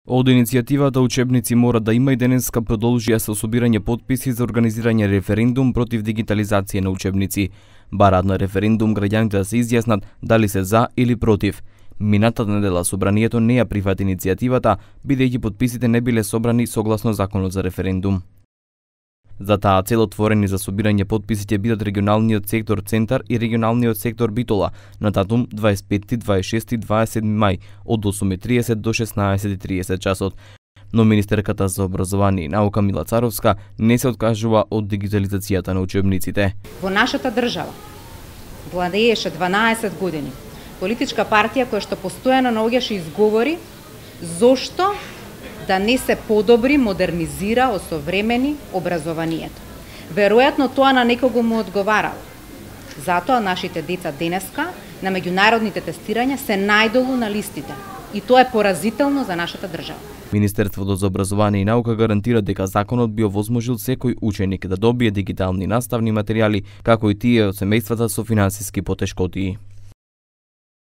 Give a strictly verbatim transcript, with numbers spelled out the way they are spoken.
Од иницијативата учебници мора да има и денеска продолжија со собирање потписи за организирање референдум против дигитализација на учебници. Бараат на референдум граѓаните да се изјаснат дали се за или против. Минатата недела собранието не ја прифати иницијативата, бидејќи потписите не биле собрани согласно законот за референдум. За таа цел отворени за собирање потписи ќе бидат регионалниот сектор Центар и регионалниот сектор Битола на датум дваесет и петти, дваесет и шести и дваесет и седми мај од осум и триесет до шеснаесет и триесет часот. Но министерката за образование и наука Мила Царовска не се откажува од дигитализацијата на учебниците. Во нашата држава владееше дванаесет години политичка партија која што постојано наоѓаше изговори зошто да не се подобри, модернизира, осовремени образованието. Веројатно тоа на некого му одговарало. Затоа нашите деца денеска на меѓународните тестирања се најдолу на листите. И тоа е поразително за нашата држава. Министерството за образование и наука гарантира дека законот би овозможил секој ученик да добие дигитални наставни материјали, како и тие од семејствата со финансиски потешкотии.